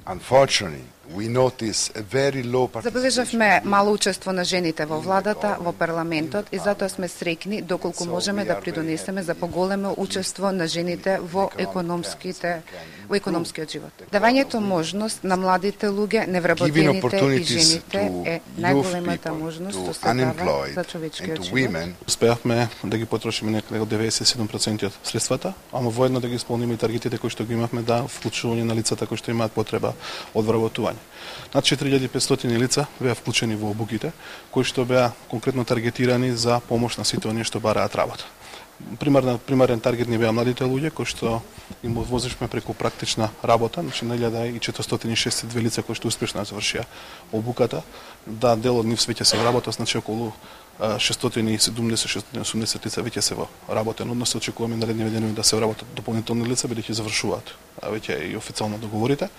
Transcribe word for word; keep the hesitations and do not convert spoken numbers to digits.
Unfortunately, we notice a very low participation. Забележавме мало учество на жените во владата, во парламентот и затоа сме среќни доколку можеме да придонесеме за поголемо учество на жените во економските во економскиот живот. Давањето можност на младите луѓе, невработените и жените е најголемата можност што се дава за човечкиот живот. Успеавме да ги потрошиме некаде од деветдесет и седум проценти од средствата, ама воедно да ги исполниме и таргетите кои што ги имавме да вклучување на лицата кои што имаат потреба од вработување. Над четири илјади и петстотини лица беа вклучени во обуките, кои што беа конкретно таргетирани за помош на сите оние што бараат работа. Примарен, примарен таргет ни беа младите луѓе кои што им возишме преку практична работа, значи на илјада и четиристотини и шесдесет и две лица кои што успешно завршија обуката, да дел од нив веќе се работа, значи околу шестстотини и седумдесет до шестстотини и осумдесет лица веќе се во работен однос, очекуваме наредниве денови да се вработат дополнителни лица бидејќи завршуваат веќе и официјално договорите.